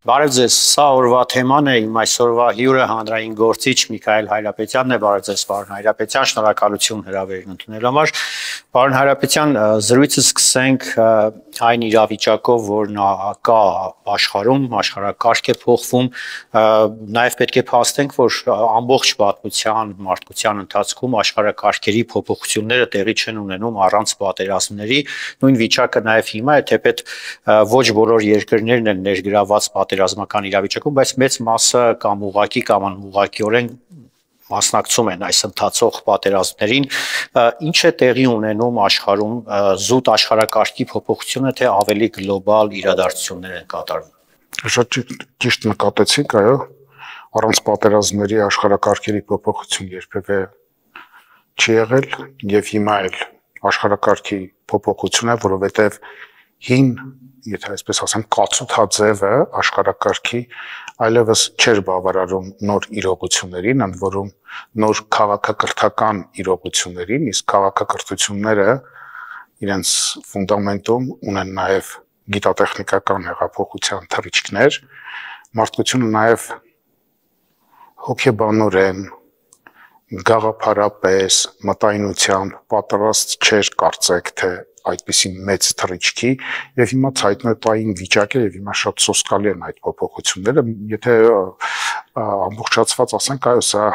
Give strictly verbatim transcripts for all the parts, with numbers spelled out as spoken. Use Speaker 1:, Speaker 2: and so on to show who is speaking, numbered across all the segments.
Speaker 1: Բարև ձեզ, սա օրվա թեման է, իմ այսօրվա հյուրը հանրային գործիչ Միքայել Հայրապետյանն է, բարև ձեզ պարոն Հայրապետյան, շնորհակալություն հրավերն ընդունելու համար։ Պարոն Հայրապետյան, զրույցը սկսենք այն իրավիճակով, որ նա կա աշխարհում, աշխարհակարգ է փոխվում, նաև պետք է փաստենք, որ ամբողջ պատմության, մարդկության ընթացքում աշխարհակարգերի փոփոխությունները տեղի չեն ունենում առանց պատերազմների, նույն վիճակը նաև հիմա է, թեպետ ոչ բոլոր երկրներն են ներգրավված պատերազմական իրավիճակում, բայց մեծ մասը կամ ուղղակի կամ անուղղակիորեն մասնակցում են այս ընթացող պատերազմներին, ինչ է տեղի ունենում աշխարհում, զուտ աշխարհակարգի փոփոխությունը, թե ավելի գլոբալ իրադարձություններ են կատարվում։
Speaker 2: Շատ ճիշտ նկատեցիք, այո, առանց պատերազմների աշխարհակարգերի փոփոխություն երբևէ չի եղել եւ հիմա էլ աշխարհակարգի փոփոխություն է, որովհետեւ հին, եթե այսպես ասեմ, կացութաձևը աշխարհակարգի այլևս չէր բավարարում նոր իրողություններին, ընդ որում նոր քաղաքակրթական իրողություններին, իսկ քաղաքակրթությունները իրենց ֆունդամենտում ունեն նաև գիտատեխնիկական հեղափոխության թռիչքներ, մարդկությունը նաև հոգեբանորեն, գաղափարապես, մտայնությամբ պատրաստ չէր կարծեք, թե այդպիսի մեծ թռիչքի եւ հիմա ցայտնոտային վիճակ է եւ հիմա շատ սոսկալի են այդ փոփոխությունները, եթե ամբողջացված ասենք, այո, սա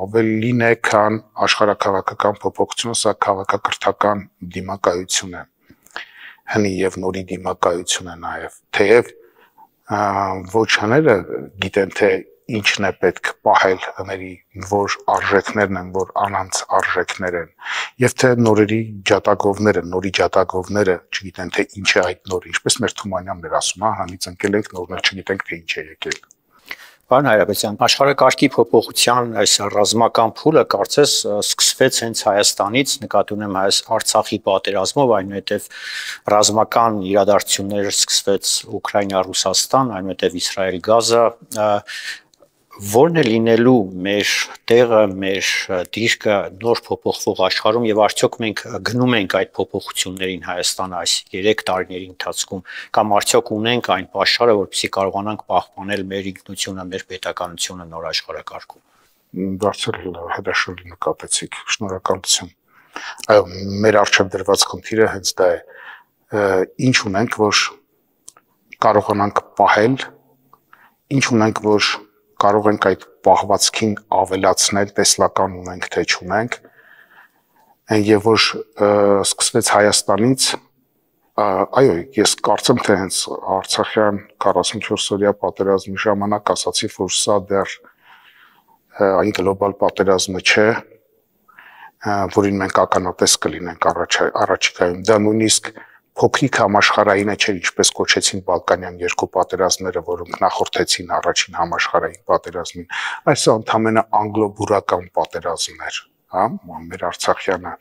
Speaker 2: ավելին է, քան աշխարհակաղակական փոփոխությունը, սա քաղաքակրթական դիմակայություն է, հնի եւ նորի դիմակայություն է նաեւ, թեև ոչ հները գիտեն, թե ինչն է պետք պահել հների, որ արժեքներն են, որ անանց արժեքներ են, եւ թե նորերի ջատագովները, նորի ջատագովները չգիտեն, թե ինչ է այդ նորը, ինչպես մեր Թումանյանն էր ասում, հա, հանից ընկել ենք, նորներ չգիտենք, թե ինչ է եկել։
Speaker 1: Պարոն Հայրապետյան, աշխարհակարգի փոփոխության այս ռազմական փուլը կարծես սկսվեց հենց Հայաստանից, նկատի ունեմ այս Արցախի պատերազմով, այնուհետև ռազմական իրադարձություններ սկսվեց Ուկրաինա-Ռուսաստան, այնուհետև Իսրայել-Գազա, որն է լինելու մեր տեղը, մեր դիրքը նոր փոփոխվող աշխարհում եւ արդյոք մենք գնում ենք այդ փոփոխություններին Հայաստանը այս երեք տարիների ընթացքում կամ արդյոք ունենք այն պաշարը, որպեսզի կարողանանք պահպանել մեր ինքնությունը, մեր պետականությունը նոր աշխարհակարգում։
Speaker 2: Դարձել հետաքրքիր նկատեցիք, շնորհակալություն։ Այո, մեր առջև դրված խնդիրը հենց դա է, ինչ ունենք, որ կարողանանք պահել, ինչ ունենք, որ կարող ենք այդ պահվածքին ավելացնել, տեսլական ունենք, թե չունենք, եւ որ սկսվեց Հայաստանից, այո, ես կարծեմ, թե հենց Արցախյան քառասունչորսօրյա պատերազմի ժամանակ ասացի, որ սա դեռ այն գլոբալ պատերազմը չէ, որին մենք ականատես կլինենք առաջիկայում, դա նույնիսկ փոքրիկ համաշխարհայինը չէր, ինչպես կոչեցին Բալկանյան երկու պատերազմները, որոնք նախորդեցին առաջին համաշխարհային պատերազմին, այս ընդամենը անգլո-բուրական պատերազմն էր, հա, մեր Արցախյանը,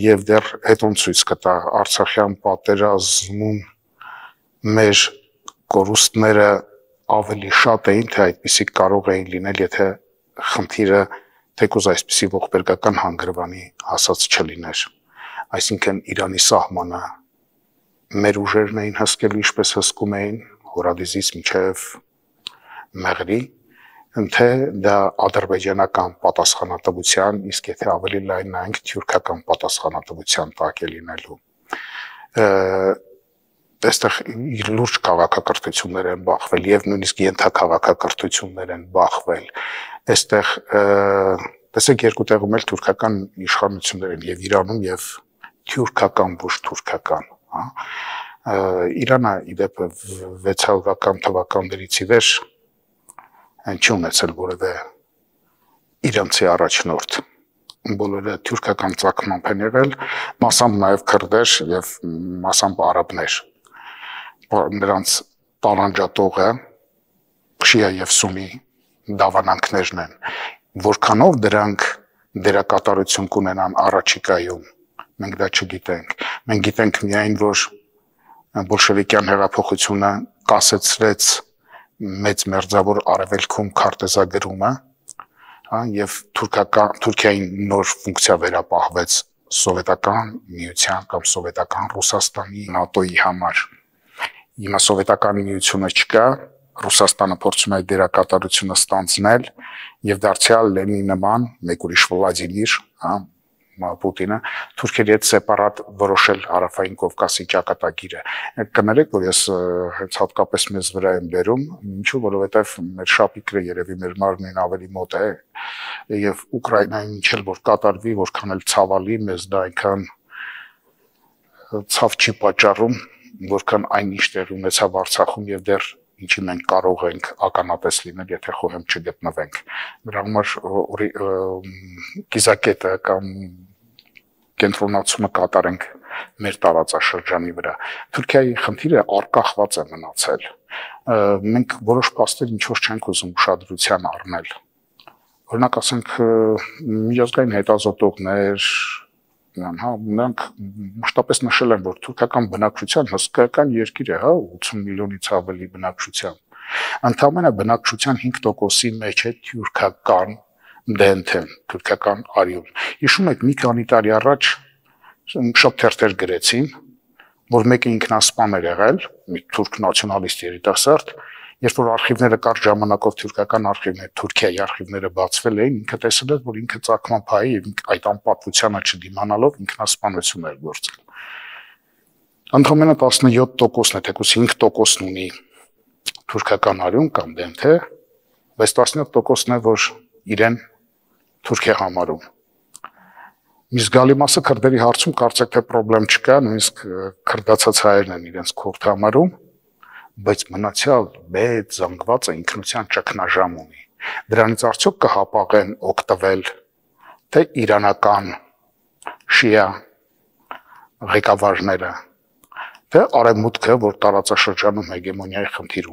Speaker 2: եւ դեռ հետոն ցույց կտա Արցախյան պատերազմում մեր կորուստները ավելի շատ էին, թե այդպիսի կարող էին լինել, եթե խնդիրը թեկուզ այսպիսի ողբերգական հանգրվանի հասած չլիներ, այսինքն Իրանի սահմանը մեր ուժերն էին հսկելու, ինչպես հսկում էին Հորադիզից մինչև Մեղրի, թե դա ադրբեջանական պատասխանատվության, իսկ եթե ավելի լայն նայենք թյուրքական պատասխանատվության տակ է լինելու։ Այստեղ լուրջ քաղաքակրթություններ են բախվել եւ նույնիսկ ենթաքաղաքակրթություններ են բախվել։ Այստեղ տեսեք երկու տեղում էլ թուրքական իշխանություններ են եւ Իրանում եւ թյուրքական ոչ թուրքական, հա։ Իրանը իդեպ վեցսուն թվականներից ի վեր չի ունեցել որևէ իրանցի առաջնորդ, բոլորը թյուրքական ծագմամբ են եղել, մասամբ նաև քրդեր եւ մասամբ արաբներ, նրանց տարանջատողը շիա եւ սունի դավանանքներն են, որքանով դրանք դերակատարություն կունենան առաջիկայում, մենք դա չգիտենք, մենք գիտենք միայն, որ բոլշևիկյան հեղափոխությունը կասեցրեց մեծ մերձավոր արևելքում քարտեզագրումը, հա, եւ թուրքական Թուրքիային նոր ֆունկցիա վերապահվեց սովետական միության կամ սովետական Ռուսաստանի նատոյի համար։ Հիմա սովետական միությունը չկա, Ռուսաստանը փորձում է դերակատարությունը ստանձնել եւ դարձյալ Լենինի նման մեկ ուրիշ Վլադիմիր, հա, Պուտինը թուրքերի հետ սեպարատ որոշել Հարավային Կովկասի ճակատագիրը։ Կներեք, որ ես հենց հատկապես մեզ վրա եմ բերում, ինչու, որովհետև մեր շապիկը երևի մեր մարմնին ավելի մոտ է եւ Ուկրաինային ինչ էլ որ կատարվի, որքան էլ ցավալի, մեզ դա այնքան ցավ չի պատճառում, որքան այն ինչ տեղ ունեցավ Արցախում եւ դեռ ինչի մենք կարող ենք ականատես լինել, եթե խոհեմ չգտնվենք։ Դրա համար կիզակետը կամ կենտրոնացումը կատարենք մեր տարածաշրջանի վրա։ Թուրքիայի խնդիրը արկախված է մնացել։ Մենք որոշ փաստեր ինչ որ չենք ուզում ուշադրության առնել։ Օրինակ ասենք միջազգային հետազոտողներ, հա, նրանք մշտապես նշել են, որ թուրքական բնակչության հսկայական երկիր է, հա, ութսուն միլիոնից ավելի բնակչությամբ։ Ընդամենը բնակչության հինգ տոկոսի մեջ է թուրքական դենթեն, թուրքական արյուն։ Հիշում եք, մի քանի տարի առաջ շատ թերթեր գրեցին, որ մեկը ինքնասպան էր եղել, մի թուրք նացիոնալիստ երիտասարդ, երբ որ արխիվները կարճ ժամանակով թուրքական արխիվներ, Թուրքիայի արխիվները բացվել էին, ինքը տեսել էր, որ ինքը ծագման փայի եւ այդ անպատվությանը չդիմանալով ինքնասպանություն էր գործել։ Ընդամենը տասնյոթ տոկոսն է, թեկուզ հինգ տոկոսն ունի թուրքական արյուն կամ դենթե, բայց տասնյոթ տոկոսն է, որ իրեն թուրք է համարում։ Մի զգալի մասը քրդերի հարցում կարծեք թե խնդրեմ չկա, նույնիսկ քրդացած հայերն են իրենց քուրդ համարում, բայց մնացյալ մեծ զանգվածը ինքնության ճգնաժամ ունի։ Դրանից արդյոք կհապաղեն օգտվել թե իրանական շիա ղեկավարները, թե արևմուտքը, որ տարածաշրջանում հեգեմոնիայի խնդիր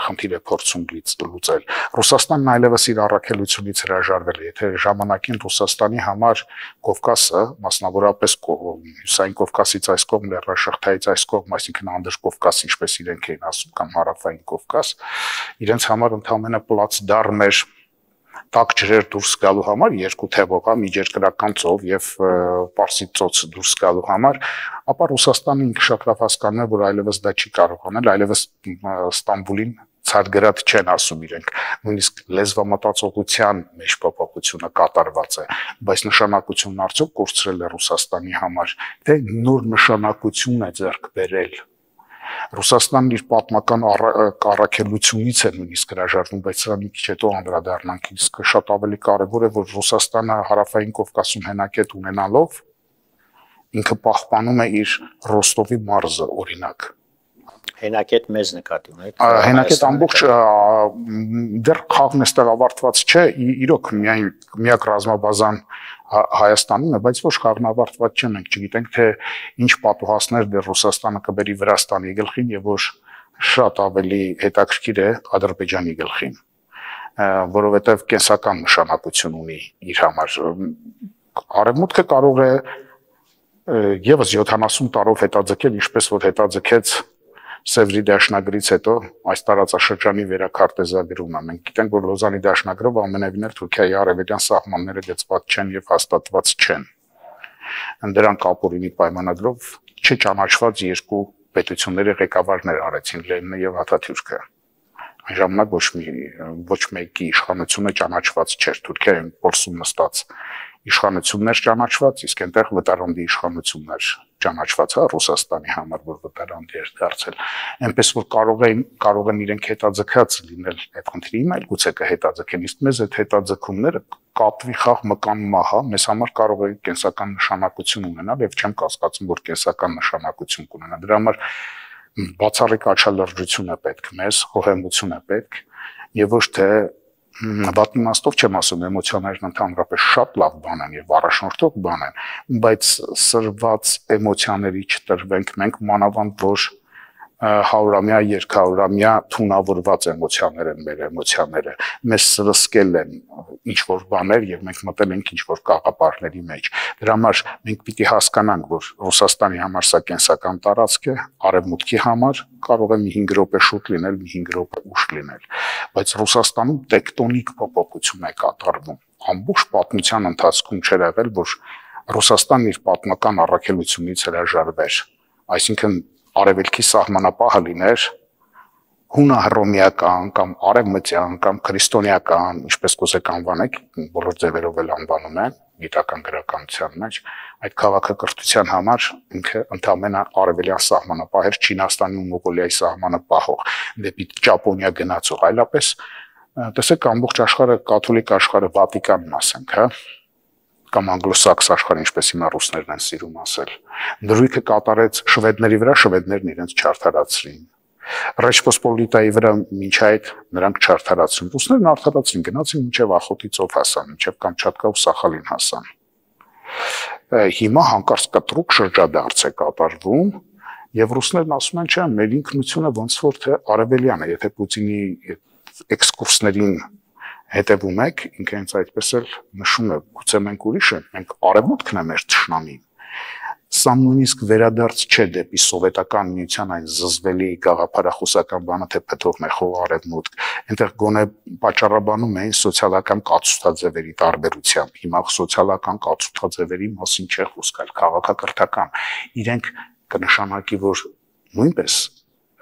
Speaker 2: խնդիր է փորձում լուծել։ Ռուսաստանն այլևս իր առաքելությունից հրաժարվել է, եթե ժամանակին Ռուսաստանի համար Կովկասը, մասնավորապես Հյուսային Կովկասից այս կողմ, Լեռնաշղթայից այս կողմ, այսինքն Անդրկովկաս, ինչպես իրենք էին ասում, կամ Հարավային Կովկաս, իրենց համար ընդհանրապես պլացդարմ էր տաք ջրեր դուրս գալու համար, երկու թևով, միջերկրական ծով եւ Պարսից ծոց դուրս գալու համար, ապա Ռուսաստանը ինքը շատ լավ հասկանում է, որ այլևս դա չի կարող անել, այլևս Ստամբուլին ցարգրատ չեն ասում իրենք, նույնիսկ լեզվամտածողության մեջ փոփոխությունը կատարված է, բայց նշանակությունն արդյոք կորցրել է Ռուսաստանի համար, թե նոր նշանակություն է ձեռք բերել։ Ռուսաստանն իր պատմական առաքելությունից է նույնիսկ հրաժարվում, բայց սա մի քիչ հետո անդրադառնանք, իսկ շատ ավելի կարևոր է, որ Ռուսաստանը Հարավային Կովկասում հենակետ ունենալով ինքը պահպանում է իր Ռոստովի մարզը, օրինակ։
Speaker 1: Հենակետ մեզ նկատի ունեք։
Speaker 2: Հենակետ ամբողջ դեռ խաղն էստեղ ավարտված չէ, իրոք միայն միակ ռազմաբազան Հայաստանում է, բայց ոչ խաղն ավարտված չէ, մենք չգիտենք թե ինչ պատուհասներ դեռ Ռուսաստանը կբերի Վրաստանի գլխին եւ ոչ շատ ավելի հետաքրքիր է Ադրբեջանի գլխին, որովհետեւ կենսական նշանակություն ունի իր համար։ Արևմուտքը կարող է եւս յոթանասուն տարով հետաձգել, ինչպես որ հետաձգեց Սևրի դաշնագրից հետո այս տարածաշրջանի վերակարտեզագրումը։ Մենք գիտենք, որ Լոզանի դաշնագրով ամենևին էլ Թուրքիայի արևելյան սահմանները գծված չեն եւ հաստատված չեն։ Դրանք ապօրինի պայմանագրով չճանաչված երկու պետությունների ղեկավարներ արեցին Լենինը եւ Աթաթյուրքը։ Այն ժամանակ ոչ մի ոչ մեկի իշխանությունը ճանաչված չէր, Թուրքիայում փորձում նստած իշխանություններ ճանաչված, իսկ այնտեղ վտարանդի իշխանություններ ճանաչված է Ռուսաստանի համար, որ վտարանդի էր դարձել։ Այնպես որ կարող են կարող են իրենք հետաձգած լինել այդ խնդրի, այլ գուցե կհետաձգեն, իսկ մեզ այդ հետաձգումները կապվի խաղ մկան մահա, մեզ համար կարող է կենսական նշանակություն ունենալ եւ չեմ կասկածում, որ կենսական նշանակություն կունենա։ Դրա համար բացառիկ աչալրջություն է պետք մեզ, խոհեմություն է պետք եւ ոչ թե Բաց իմաստով չեմ ասում, էմոցիաներն ընդհանրապես շատ լավ բան են եւ առաջնորդող բան են, բայց սրված էմոցիաների չտրվենք մենք, մանավանդ որ հարյուրամյա, երկհարյուրամյա թունավորված էմոցիաներ են մեր էմոցիաները, մեզ սրսկել են ինչ որ բաներ եւ մենք մտել ենք ինչ որ կաղապարների մեջ։ Դրա համար մենք պիտի հասկանանք, որ Ռուսաստանի համար սա կենսական տարածք է, Արևմուտքի համար կարող է մի հինգ րոպե շուտ լինել, մի հինգ րոպե ուշ լինել, բայց Ռուսաստանում տեկտոնիկ փոփոխություն է կատարվում։ Ամբողջ պատմության ընթացքում չէր եղել, որ Ռուսաստանն իր պատմական առաքելությունից հրաժարվեր, այսինքն արևելքի սահմանապահը լիներ հունահռոմեական կամ արևմտյան կամ քրիստոնեական, ինչպես կուզեք անվանեք, բոլոր ձևերով էլ անվանում են գիտական գրականության մեջ, այդ քաղաքակրթության համար ինքը ընդհանրապես արևելյան սահմանապահ էր, Չինաստանի ու Մոնղոլիայի սահմանը պահող, դեպի Ճապոնիա գնացող, այլապես տեսեք ամբողջ աշխարհը, կաթոլիկ աշխարհը, Վատիկանն ասենք, հա, կամ անգլոսաքս աշխարհը, ինչպես հիմա ռուսներն են սիրում ասել, դրույթը կատարեց շվեդների վրա, շվեդներն իրենց չարթարացրին։ Ռեչպոսպոլիտայի վրա մինչ այդ նրանք չարթարացրին, ռուսներն արդարացրին, գնացին մինչև Ախոտի ծով հասան, մինչև Կամչատկա ու Սախալին հասան։ Հիմա հանկարծ կտրուկ շրջադարձ է կատարվում, եւ ռուսներն ասում են, չէ, մեր ինքնությունը ոնց որ թե արևելյան է, եթե Պուտինի էքսկուրսներին հետևում եք, ինքը հենց այդպես էլ նշում է, գուցե մենք ուրիշ ենք, մենք արևմուտքն է մեր ճշնամին։ Սա նույնիսկ վերադարձ չէ դեպի սովետական միության այն զզվելի գաղափարախոսական բանը, թե փթողն է խող արևմուտք, այնտեղ գոնե պատճառաբանում էին սոցիալական կացուցաձևերի տարբերությամբ, հիմա սոցիալական կացուցաձևերի մասին չէ խոսք, այլ քաղաքակրթական, իրենք կնշանակի, որ նույնպես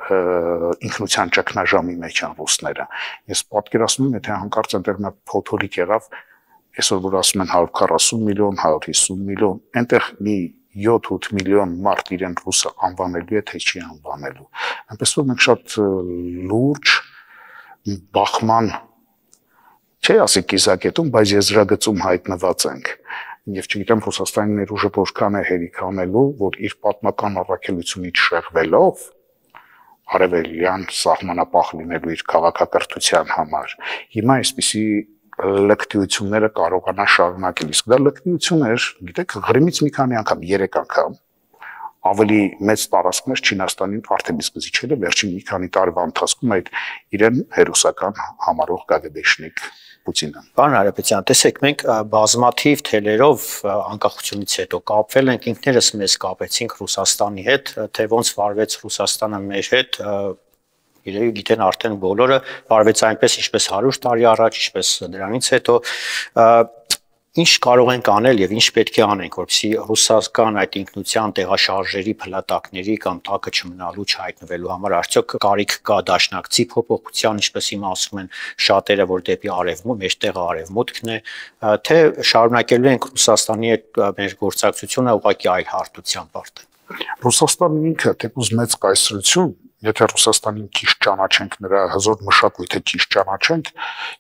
Speaker 2: ինքնության ճգնաժամի մեջ են ռուսները։ Ես պատկերացնում եմ, եթե հանկարծ այնտեղ նա փոթորիկ եղավ, այսօր որ ասում են հարյուր քառասուն միլիոն, հարյուր հիսուն միլիոն, այնտեղ մի յոթ-ութ միլիոն մարդ իրեն ռուսը անվանելու է, թե չի անվանելու։ Այնպես որ մենք շատ լուրջ բախման, չի ասի կիզակետում, բայց եզրագծում հայտնված ենք։ Եվ չգիտեմ Ռուսաստանի ներուժը որքան է հերիք անելու, որ իր պատմական առաքելությունից շեղվելով արևելյան սահմանապահ լինելու իր քաղաքակրթության համար։ Հիմա այսպիսի լկտիությունները կարողանա շարունակել, իսկ դա լկտիություն էր, գիտեք, Ղրիմից մի քանի անգամ, երեք անգամ ավելի մեծ տարածքներ Չինաստանին արդեն իսկ զիջել է վերջին մի քանի տարվա ընթացքում այդ իրեն հերոսական համարող գագեբեշնիկ Պուտինը։
Speaker 1: Պարոն Հարապետյան, տեսեք, մենք բազմաթիվ թելերով անկախությունից հետո կապվել ենք, ինքներս մեզ կապեցինք Ռուսաստանի հետ, թե ոնց վարվեց Ռուսաստանը մեր հետ, իրենք գիտեն արդեն բոլորը, վարվեց այնպես, ինչպես հարյուր տարի առաջ, ինչպես դրանից հետո, ինչ կարող ենք անել եւ ինչ պետք է անենք, որպեսզի ռուսական այդ ինքնության տեղաշարժերի փլատակների կամ տակը չմնալու չհայտնվելու համար արդյոք կարիք կա դաշնակցի փոփոխության, ինչպես հիմա ասում են շատերը, որ դեպի արևմուտք, մեջտեղը արևմուտքն է, թե շարունակելու ենք Ռուսաստանի հետ մեր գործակցությունը ուղղակի այլ հարթությամբ արդեն։
Speaker 2: Ռուսաստանն ինքը թեկուզ մեծ կայսրություն, եթե Ռուսաստանին ճիշտ ճանաչենք, նրա հզոր մշակույթը ճիշտ ճանաչենք,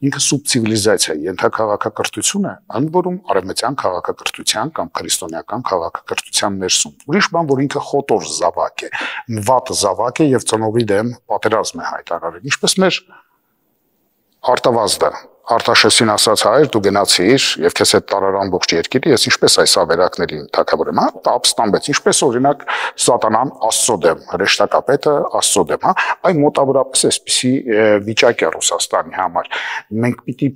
Speaker 2: ինքը սուբցիվիլիզացիա է, ենթակաղաքակրթություն է, ընդ որում արևմտյան քաղաքակրթության կամ քրիստոնեական քաղաքակրթության ներսում։ Ուրիշ բան, որ ինքը խոտոր զավակ է, վատ զավակ է եւ ծնողի դեմ պատերազմ է հայտարարել, ինչպես մեր արտավազդը Արտաշեսին ասաց հայր դու գնացիր եւ քեզ հետ տարար ամբողջ երկիրը, ես ինչպես այս ավերակներին թակավորեմ, հա, ապստամբեց, ինչպես օրինակ սատանան Աստծո դեմ, հրեշտակապետը Աստծո դեմ, հա, այ մոտավորապես այսպիսի վիճակ է Ռուսաստանի համար։ Մենք պիտի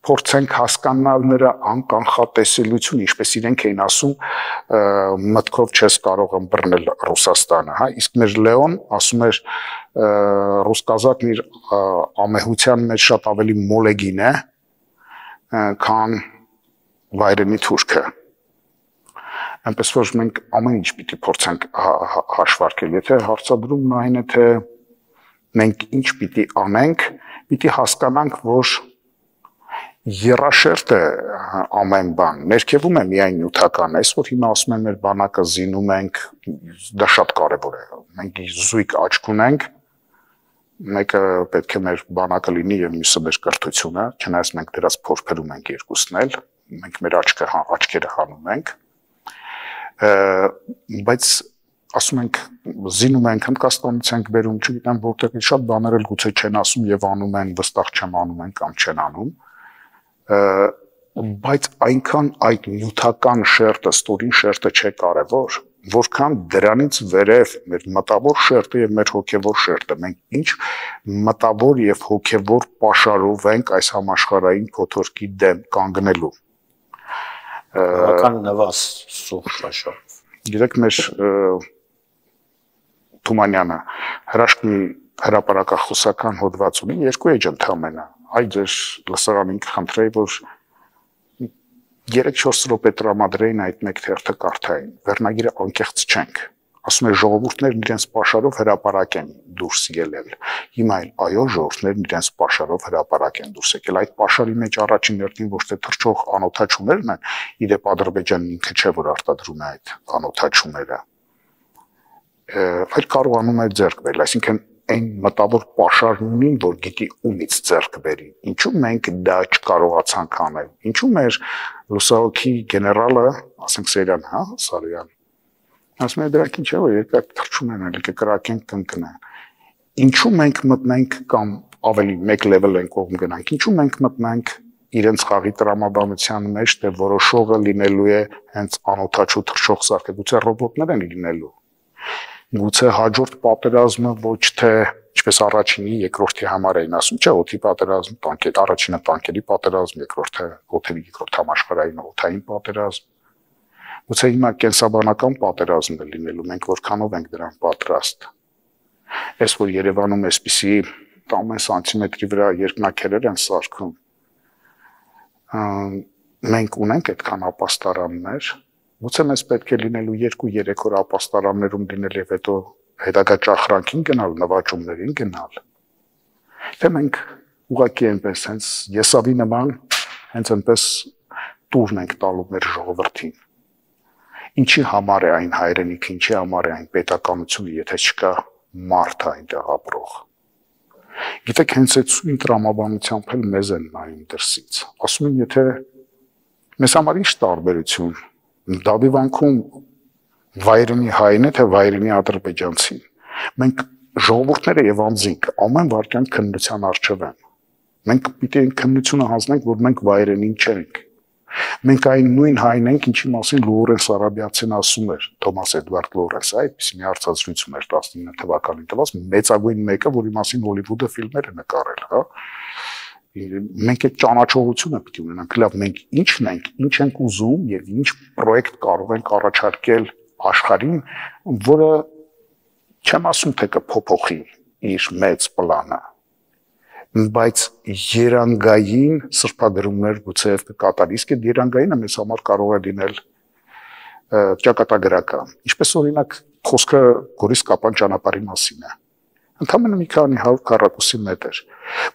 Speaker 2: փորձենք հասկանալ նրա անկանխատեսելությունը, ինչպես իրենք էին ասում, մտքով չես կարող ըմբռնել Ռուսաստանը, հա, իսկ մեր Լեոն ասում էր ռուս-կազակն իր ամեհության մեջ շատ ավելի մոլեգին է, քան վայրենի թուրքը։ Այնպես որ մենք ամեն ինչ պիտի փորձենք հաշվարկել, եթե հարցադրումն այն է, թե մենք ինչ պիտի անենք, պիտի հասկանանք, որ երաշերտ է ամեն բան, ներքևում է միայն նյութական, այսօր հիմա ասում են մեր բանակը զինում ենք, դա շատ կարևոր է, մենք զույգ աչք ունենք, մեկը պետք է մեր բանակը լինի եւ մյուսը մեր կրթությունը, չնայած մենք դրանց փորփերում ենք երկուսն էլ, մենք մեր աչքը աչքերը հանում ենք, բայց ասում ենք զինում ենք, Հնդկաստանից ենք բերում, չգիտեմ որտեղ շատ բաներ էլ գուցե չեն ասում եւ անում են, վստահ չեմ անում են կամ չեն անում, բայց այնքան այդ նյութական շերտը, ստորին շերտը չէ կարևոր, որքան դրանից վերև մեր մտավոր շերտը եւ մեր հոգեվոր շերտը, մենք ինչ մտավոր եւ հոգեվոր պաշարով ենք այս համաշխարհային փոթորկի դեմ կանգնելու։
Speaker 1: Բավական նվազ սուղ պաշարով։
Speaker 2: Գիտեք, մեր Թումանյանը հրաշքնի հրապարակախոսական հոդված ունի, երկու էջ ընդամենը, այ ձեր լսարանին կխնդրեի, որ երեք-չորս րոպե տրամադրեին այդ մեկ թերթը կարդային, վերնագիրը անկեղծ չենք, ասում է ժողովուրդներն իրենց պաշարով հրապարակ են դուրս ելել։ Հիմա էլ այո, ժողովուրդներն իրենց պաշարով հրապարակ են դուրս եկել։ Այդ պաշարի մեջ առաջին հերթին ոչ թե թռչող անօթաչուներն են, իրեպ Ադրբեջանն ինքը չէ, որ արտադրում է այդ անօթաչուները, այլ կարողանում է ձեռք բերել, այսինքն այն մտավոր պաշարն ունին, որ գիտի ումից ձեռք բերի։ Ինչու մենք դա չկարողացանք անել։ Ինչու մեր լուսահոգի գեներալը, ասենք Սերյան, հա, Սարոյան, ասում է դրանք ինչ է, որ երկար թռչում են, ելի կկրակենք կընկնեն։ Ինչու մենք մտնենք կամ ավելի մեկ level են կողմ գնանք, ինչու մենք մտնենք իրենց խաղի տրամաբանության մեջ, թե որոշողը լինելու է հենց անօթաչու թռչող սարքը, գուցե ռոբոտներ են լինելու։ Գուցե հաջորդ պատերազմը ոչ թե ինչպես առաջինի, երկրորդի համար էին ասում, չէ, օդի պատերազմ, տանկեր, առաջինը տանկերի պատերազմ, երկրորդը օդերի երկրորդ համաշխարհային օդային պատերազմ։ Գուցե հիմա կենսաբանական պատերազմ է լինելու, մենք որքանով ենք դրան պատրաստ։ Այս որ Երևանում էսպիսի տասը սանտիմետրի վրա երկնաքերեր են սարքում, մենք ունենք այդքան ապաստարաններ, գուցե մեզ պետք է լինելու երկու-երեք օր ապաստարաններում լինել եւ հետո հետագա ճախրանքին գնալ, նվաճումներին գնալ։ Թե մենք ուղղակի այնպես հենց եսավի նման հենց այնպես տուրն ենք տալու մեր ժողովրդին։ Ինչի համար է այն հայրենիքը, ինչի համար է այն պետականությունը, եթե չկա մարդ այնտեղ ապրող։ Գիտեք, հենց այդ սույն տրամաբանությամբ էլ մեզ են նայում դրսից։ Ասում են, եթե մեզ համար ինչ տարբերություն, Դավիվանքում վայրենի հայն է, թե վայրենի ադրբեջանցին։ Մենք ժողովուրդները եւ անձինք ամեն վարքյան քննության առջև են։ Մենք պիտի այն քննությունը հանձնենք, որ մենք վայրենին չենք։ Մենք այն նույն հայն ենք, ինչի մասին Լորենս Արաբիացին ասում էր, Թոմաս Էդվարդ Լորենսը, այդպիսի մի հարցազրույցում էր տասնինը թվականին տված, մեծագույն մեկը, որի մասին Հոլիվուդը ֆիլմեր է նկարել, հա։ Մենք այդ ճանաչողությունը պիտի ունենանք, լավ, մենք ինչն ենք, ինչ ենք ուզում եւ ինչ պրոյեկտ կարող ենք առաջարկել աշխարհին, որը չեմ ասում թե կփոփոխի իր մեծ պլանը, բայց երանգային սրբադրումներ գուցե կկատարի, իսկ այդ երանգայինը մեզ համար կարող է լինել ճակատագրական, ինչպես օրինակ խոսքը Գորիս-Կապան ճանապարհի մասին է։ Ընդամենը մի քանի հարյուր քառակուսի մետր,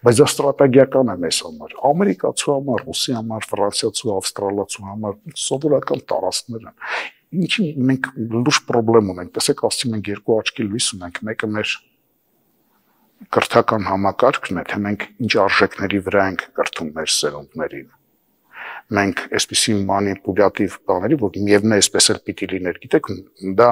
Speaker 2: բայց դա ստրատեգիական է մեզ համար, ամերիկացու համար, ռուսի համար, ֆրանսիացու, ավստրալացու համար, սովորական տարածքներ են։ Ինչի մենք լուրջ խնդրեմ ունենք, տեսեք, ասում ենք երկու աչքի լույս ունենք, մեկը մեր կրթական համակարգն է, թե մենք ինչ արժեքների վրա ենք կրթում մեր սերունդներին։ Մենք այսպիսի մանիպուլյատիվ բաների, որ միևնույն է, այսպես էլ պիտի լիներ, գիտեք, դա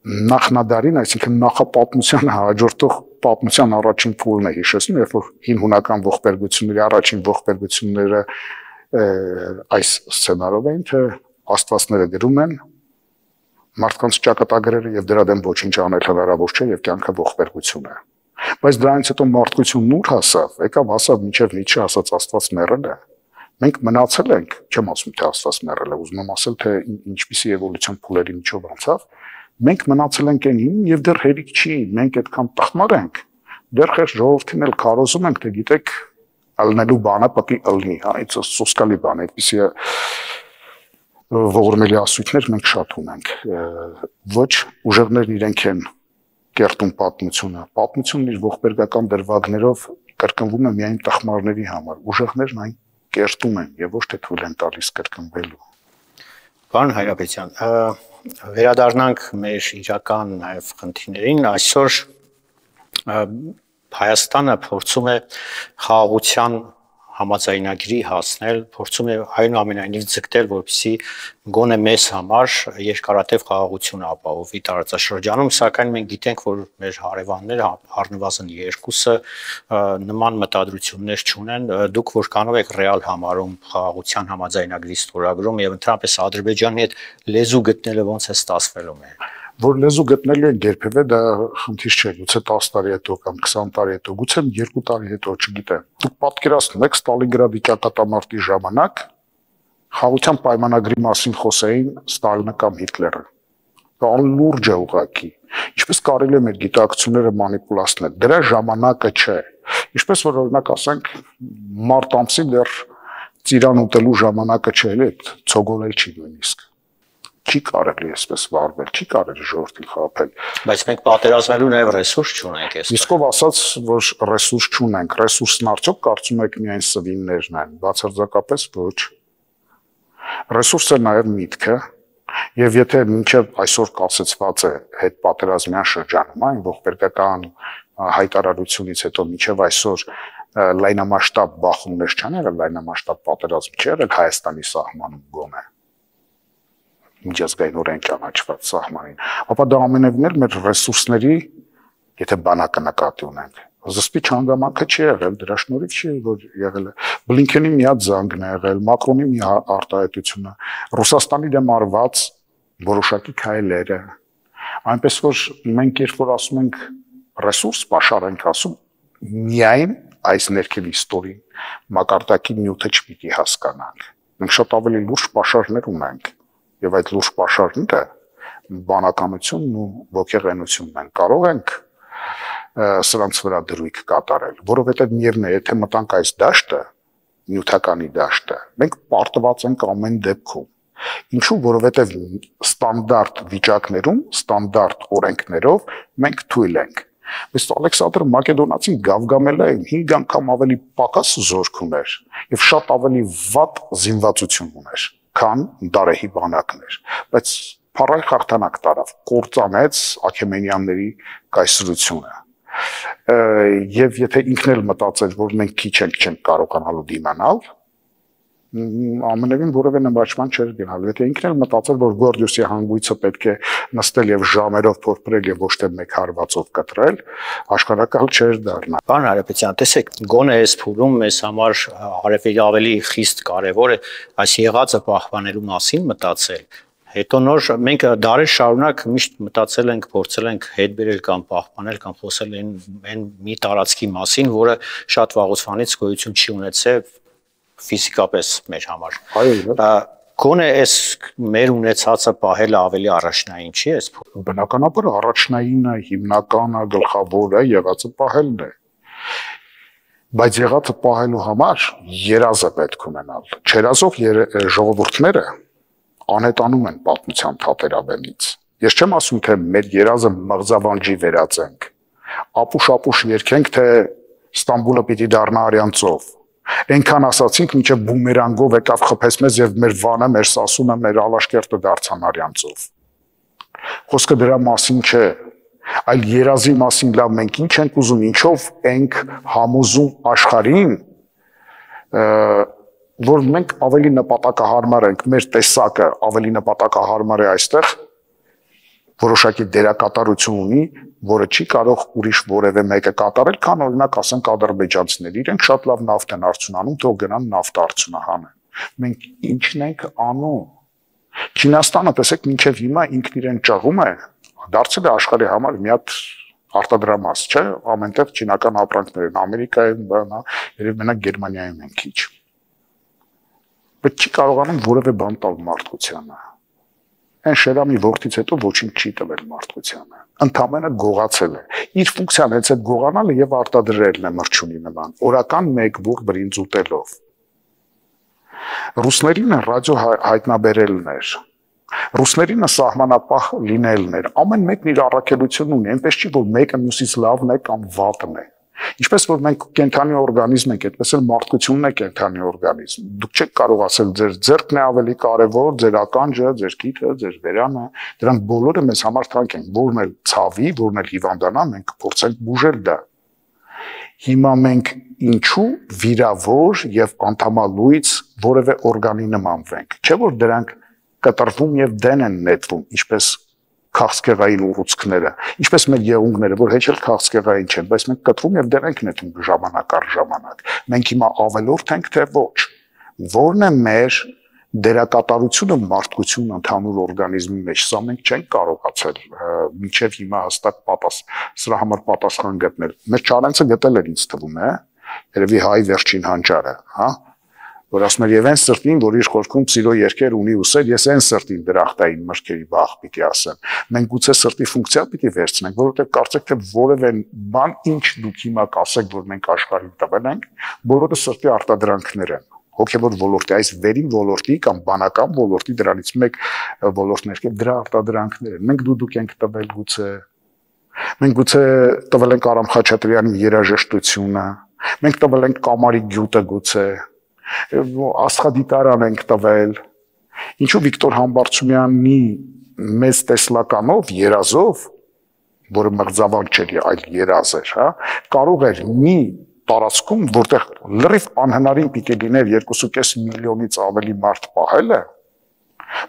Speaker 2: նախնադարին, այսինքն նախապատմությանը հաջորդող պատմության առաջին փուլն է հիշեցնում, երբ որ հին հունական ողբերգությունների առաջին ողբերգությունները այս սցենարով էին, թե աստվածները գրում են մարդկանց ճակատագրերը եւ դրա դեմ ոչինչ անել հնարավոր չէ եւ կյանքը ողբերգություն է։ Բայց դրանից հետո մարդկությունն ուր հասավ, եկավ հասավ մինչև Նիչե ասած Աստված մեռել է։ Մենք մնացել ենք, չեմ ասում թե Աստված մեռել է, ուզում եմ ասել թե ինչպիսի էվոլյուցիոն փուլերի միջով անցավ, մենք մնացել ենք այնին եւ դեռ հերիք չի, մենք այդքան տխմար ենք, դեռ խեր ժողովրդին էլ քարոզում ենք, թե գիտեք, ալնելու բանը պետք է ըլնի, հա, այդ սոսկալի բան, այդպիսի ողորմելի ասույթներ մենք շատ ունենք, ոչ ուժեղներն իրենք են կերտում պատմությունը, պատմությունն իր ողբերգական դրվագներով կրկնվում է միայն տխմարների համար, ուժեղներն այն կերտում են եւ ոչ թե թույլ են տալիս կրկնվելու։
Speaker 1: Պարոն Հայրապետյան, վերադառնանք մեր իրական նաև խնդիրներին, այսօր Հայաստանը փորձում է խաղաղության համաձայնագրի հասնել, փորձում է այնուամենայնիվ ձգտել, որպեսզի գոնե մեզ համար երկարատև խաղաղություն ապահովի տարածաշրջանում, սակայն մենք գիտենք, որ մեր հարևանները առնվազն երկուսը նման մտադրություններ չունեն, դուք որքանով եք ռեալ համարում խաղաղության համաձայնագրի ստորագրում եւ ընդհանրապես Ադրբեջանի հետ լեզու գտնելը ոնց է ստացվելու մեր։
Speaker 2: Որ լեզու գտնելու են երբևէ դա խնդիր չէ, գուցե տասը տարի հետո կամ քսան տարի հետո, գուցե երկու տարի հետո, չգիտեմ։ Դուք պատկերացնեք Ստալինգրադի ճակատամարտի ժամանակ խաղաղության պայմանագրի մասին խոսեին Ստալինը կամ Հիտլերը։ Դա անլուրջ է ուղղակի։ Ինչպես կարելի է մեր գիտակցությունները մանիպուլացնել։ Դրա ժամանակը չէ։ Ինչպես որ օրինակ ասենք մարտ ամսին դեռ ծիրան ուտելու ժամանակը չէ, էլի ցոգոլել չի նույնիսկ։ Չի կարելի այսպես վարվել, չի կարելի ժողովրդին խաբել։
Speaker 1: Բայց մենք պատերազմելու նաև ռեսուրս չունենք այստեղ։
Speaker 2: Իսկ ով ասաց, որ ռեսուրս չունենք, ռեսուրսն արդյոք կարծում եք միայն սվիններն են, բացարձակապես ոչ։ Ռեսուրսը նաև միտքը, եւ եթե մինչեւ այսօր կասեցված է հետ պատերազմյան շրջանում, այն ողբերգական հայտարարությունից հետո մինչեւ այսօր լայնամասշտաբ բախումներ չան եղել, լայնամասշտաբ պատերազմ չի եղել Հայաստանի սահմանում գոնե։ Միջազգային օրենք ճանաչված սահմանին, ապա դա ամենևին էլ մեր ռեսուրսների, եթե բանակը նկատի ունենք, զսպիչ հանգամանքը չի եղել, դրա շնորհիվ չի որ եղել է Բլինքենի մի հատ զանգն է եղել, Մակրոնի մի արտահայտությունը, Ռուսաստանի դեմ արված որոշակի քայլերը, այնպես որ մենք երբ որ ասում ենք ռեսուրս պաշար ենք ասում, միայն այս ներքև իստորին մակարդակի նյութը չպիտի հասկանանք։ Մենք շատ ավելի լուրջ պաշարներ ունենք, եւ այդ լուրջ պաշարները բանականությունն ու ոգեղենությունն են կարող ենք սրանց վրա դրույք կատարել, որովհետեւ միևն է, եթե մտանք այս դաշտը, նյութականի դաշտը, մենք պարտված ենք ամեն դեպքում։ Ինչու, որովհետեւ ստանդարտ վիճակներում, ստանդարտ օրենքներով մենք թույլ ենք։ Բայց Ալեքսանդր Մակեդոնացին գավգամել է հինգ անգամ ավելի պակաս զորք ուներ եւ շատ ավելի վատ զինվածություն ուներ, քան Դարեհի բանակներ, բայց փառայ հաղթանակ տարավ, կործանեց Աքեմենյանների կայսրությունը։ Եվ եթե ինքն էլ մտածեր, որ մենք քիչ ենք չենք կարողանալու դիմանալ, ամենևին որևէ նվաճման չէր գնալ, եթե ինքն էլ մտածեր, որ Գորդիոսի հանգույցը պետք է նստել եւ ժամերով փորփրել եւ ոչ թե մեկ հարվածով կտրել, աշխարհակալ չէր դառնա։
Speaker 1: Պարոն Հարապետյան, տեսեք, գոնե այս փուլում մեզ համար արևելի ավելի խիստ կարևոր է այս եղածը պահպանելու մասին մտածել։ Հետո նոր մենք դարեր շարունակ միշտ մտածել ենք, փորձել ենք հետ բերել կամ պահպանել կամ խոսել այն այն մի տարածքի մասին, որը շատ վաղուց գոյություն չի ունեցել ֆիզիկապես մեր համար։
Speaker 2: Այո,
Speaker 1: գոնե այս մեր ունեցածը պահելը ավելի առաջնային չի էս։
Speaker 2: Բնականաբար առաջնայինը, հիմնականը, գլխավորը եղածը պահելն է։ Բայց եղածը պահելու համար երազը պետք ունենալ։ Չերազող ժողովուրդները անհետանում են պատմության թատերաբեմից։ Ես չեմ ասում, թե մեր երազը մղձավանջի վերածենք, ապուշ-ապուշ երգենք, թե Ստամբուլը պիտի դառնա արյան ծով։ Այնքան ասացինք, մինչև բումերանգով եկավ խփեց մեզ եւ մեր Վանը, մեր Սասունը, մեր Ալաշկերտը դարձան արյան ծով։ Խոսքը դրա մասին չէ, այլ երազի մասին լավ մենք ինչ ենք ուզում, ինչով ենք համոզում աշխարհին, որ մենք ավելի նպատակահարմար ենք, մեր տեսակը ավելի նպատակահարմար է այստեղ, որոշակի դերակատարություն ունի, որը չի կարող ուրիշ որևէ մեկը կատարել, քան օրինակ ասենք ադրբեջանցիները, իրենք շատ լավ նավթ են արդյունանում, թող գնան նավթ արդյունահանեն։ Մենք ինչն ենք անում։ Չինաստանը, տեսեք, մինչև հիմա ինքն իրեն ճղում է, դարձել է աշխարհի համար մի հատ արտադրամաս, չէ՞, ամենտեղ չինական ապրանքներ են, Ամերիկայում, բանա, երբ մենակ Գերմանիայում են քիչ։ Բայց չի կարողանում որևէ բան տալ մարդկությանը։ Այն Շերամի որդից հետո ոչինչ չի տվել մարդկությանը։ Ընդամենը գողացել է։ Իր ֆունկցիան հենց այդ գողանալը եւ արտադրելն է մրջունի նման, օրական մեկ բուռ բրինձ ուտելով։ Ռուսներին ռադիո հայտնաբերելն էր։ Ռուսներին սահմանապահ լինելն էր։ Ամեն մեկն իր առաքելությունն ունի, այնպես չի, որ մեկը մյուսից լավն է կամ վատն է։ Ինչպես որ մենք կենթանի օրգանիզմ ենք, այդպես էլ մարդկությունն է կենթանի օրգանիզմ։ Դուք չեք կարող ասել ձեր ձեռքն է ավելի կարևոր, ձեր ականջը, ձեր գիթը, ձեր վերանը, դրանք բոլորը մեզ համար թանկ են, որն էլ ցավի, որն էլ հիվանդանա, մենք փորձենք բուժել դա։ Հիմա մենք ինչու վիրավոր եւ անդամալույց որևէ օրգանի նմանվենք, չէ՞ որ դրանք կտրվում եւ դեն են նետվում, ինչպես քաղցկեղային ուռուցքները, ինչպես մեր եղունգները, որ հեչ էլ քաղցկեղային չեն, բայց մենք կտրում եւ դեռ ենք նետում ժամանակ առ ժամանակ։ Մենք հիմա ավելորդ ենք, թե ոչ։ Որն է մեր դերակատարությունը մարդկությունն ընդհանուր օրգանիզմի մեջ, սա մենք չենք կարողացել մինչև հիմա հստակ պատասխան, սրա համար պատասխան գտնել։ Մեր Չարենցը գտել էր ինձ թվում է, երևի հայ վերջին հանճարը, հա, որ ասում էր եւ այն սրտին, որ իր խորքում սիրո երկեր ունի ուսեր, ես այն սրտին դրախտային մրգերի բախ պիտի ասեմ։ Մենք գուցե սրտի ֆունկցիա պիտի վերցնենք, որովհետեւ կարծեք թե որևէ բան ինչ դուք հիմա կասեք, որ մենք աշխարհին տվել ենք, բոլորը սրտի արտադրանքներ են։ հոգևոր ոլորտի, այս վերին ոլորտի կամ բանական ոլորտի դրանից մեկ ոլորտներ կա, դրա արտադրանքներ են։ Մենք դուդուկ ենք տվել գուցե, մենք գուցե տվել ենք Արամ Խաչատրյանի երաժշտությունը, մենք տվել ենք Կամարի գյուտը գուցե, աստղադիտարան ենք տվել, ինչու Վիկտոր Համբարձումյանի մեծ տեսլականով, երազով, որը մղձավանք չէր, այլ երազ էր, հա, կարող էր մի տարածքում, որտեղ լրիվ անհնարին պիտի լիներ երկու կես միլիոնից ավելի մարդ պահելը,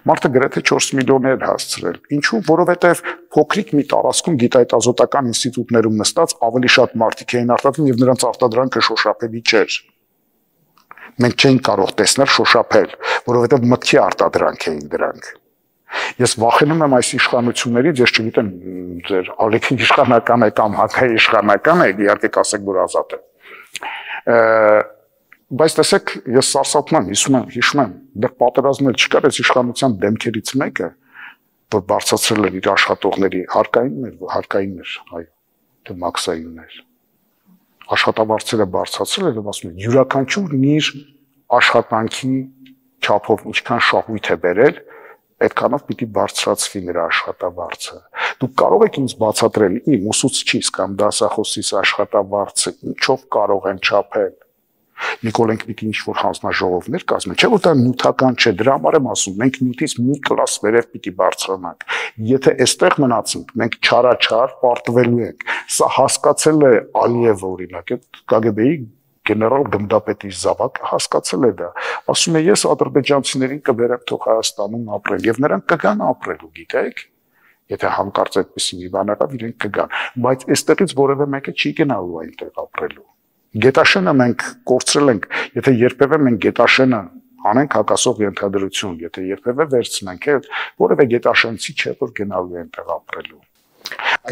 Speaker 2: մարդը գրեթե չորս միլիոն էր հասցրել։ Ինչու՞, որովհետև փոքրիկ մի տարածքում գիտահետազոտական ինստիտուտներում նստած ավելի շատ մարդիկ էին արտադրում եւ նրանց արտադրանքը շոշափելի չէր։ Մենք չէինք կարող տեսնել շոշափել, որովհետև մտքի արտադրանք էին դրանք։ Ես վախենում եմ այս իշխանություններից, ես չգիտեմ, ձեր ալիքի իշխանական է կամ հակայի իշխանական է, իհարկե կասեք, որ ազատ է։ Բայց տեսեք, ես սարսափում եմ, հիշում եմ, հիշում եմ, դեռ պատերազմներ չկար, այս իշխանության դեմքերից մեկը, որ բարձրացրել էր իր աշխատողների հարկայիններ, հարկայիններ, այո, թե մաքսայիններ։ Աշխատավարձերը բարձրացրել էր, ասում են, յուրաքանչյուրն իր աշխատանքի չափով ինչքան շահույթ է բերել, այդքանով պիտի բարձրացվի նրա աշխատավարձը։ Դուք կարող եք ինձ բացատրել իմ ուսուցչիս կամ դասախոսիս աշխատավարձը ինչով կարող են չափել։ Նիկոլենք պիտի ինչ-որ հանձնաժողովներ կազմեն, չէ՞ որ դա նյութական չէ, դրա համար եմ ասում, մենք նյութից մի կլաս վերև պիտի բարձրանանք։ Եթե այստեղ մնացինք, մենք չարաչար պարտվելու ենք։ Սա հասկացել է Ալիևը, օրինակ, այդ Կա Գե Բեի գեներալ գնդապետի զավակը հասկացել է դա, ասում է ես ադրբեջանցիներին կբերեմ թող Հայաստանում ապրել եւ նրանք կգան ապրելու, գիտեք, եթե հանկարծ այդպեսի մի բան եղավ, իրենք կգան, բայց այստեղից որևէ մեկը չի գնալու այնտեղ ապրելու։ Գետաշենը մենք կորցրել ենք, եթե երբևէ մենք Գետաշենը անենք հակասող ենթադրություն, եթե երբևէ վերցնենք, որևէ գետաշենցի չէ որ գնալու է այնտեղ ապրելու։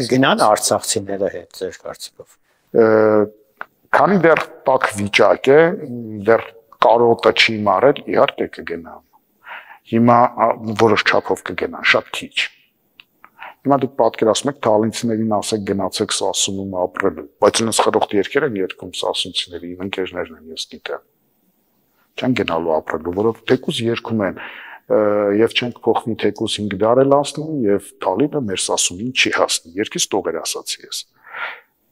Speaker 1: Կգնան արցախցիները հետ ձեր կարծիքով։
Speaker 2: Քանի դեռ տաք վիճակ է, դեռ կարոտը չի մարել, իհարկե կգնան։ Հիմա որոշ չափով կգնան, շատ քիչ։ Հիմա դուք պատկերացնում եք թալինցիներին ասեք գնացեք Սասունում ապրելու, բայց ինձ խրոխտ երկեր են երգում սասունցիների, իմ ընկերներն են, ես գիտեմ։ Չեն գնալու ապրելու, որով թեկուզ երգում են եւ չենք փոխվի թեկուզ հինգ դար էլ ասնում եւ Թալինը մեր Սասունին չի հասնի։ Երկից տողեր ասացի ես։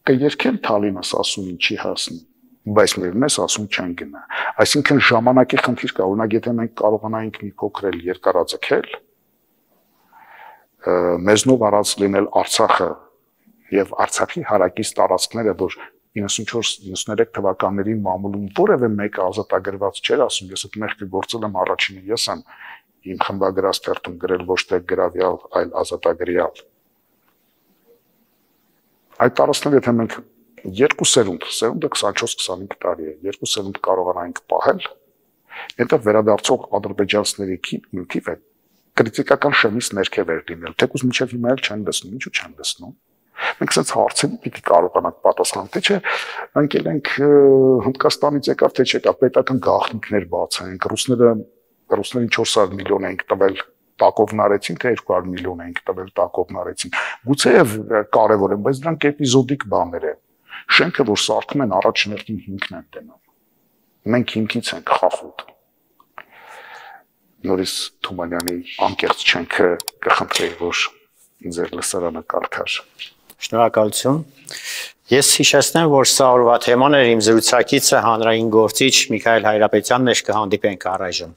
Speaker 2: Կերքեն Թալինը Սասունին չի հասնի, բայց մերն է Սասուն չեն գնա։ Այսինքն ժամանակի խնդիր կա, օրինակ եթե մենք կարողանայինք մի փոքր էլ երկարաձգել, մեզնով առած լինել Արցախը եւ Արցախի հարակից տարածքները, որ իննսունչորս իննսուներեք թվականներին մամուլում որևէ մեկը ազատագրված չէր, ասում ես այդ մեղքը գործել եմ առաջինը ես եմ իմ խմբագրած թերթում գրել ոչ թե գրավյալ, այլ ազատագրյալ։ Այդ տարածքները եթե մենք երկու սերունդ, սերունդը քսանչորս քսանհինգ տարի է, երկու սերունդ կարողանանք պահել, հետո վերադարձող ադրբեջանցիների թիվը կրիտիկական շեմից ներքև էր լինել, թեկուզ մինչև հիմա էլ չեն լսնում, ինչու չեն լսնում։ Մենք ասած հարցերի պիտի կարողանանք պատասխանել, թե չէ, ընկել ենք Հնդկաստանից եկավ, թե չեկա, պետական գաղտնիքներ բացենք, ռուսները ռուսներին չորս հարյուր միլիոն ենք տվել տակովն արեցին, թե երկու հարյուր միլիոն ենք տվել տակովն արեցին։ Գուցեև կարևոր են, բայց դրանք էպիզոդիկ բաներ են։ Շենքը, որ սարքում են, առաջներտին հիմքն են տենում։ Մենք հիմքից ենք խախուտ։ Նորից Թումանյանի անկեղծ չենքը կխնդրեի, որ ձեր լսարանը կարդար։
Speaker 1: Շնորհակալություն։ Ես հիշեցնեմ, որ սա օրվա թեման էր, իմ զրուցակիցը հանրային գործիչ Միքայել Հայրապետյանն էր, կհանդիպենք առայժմ։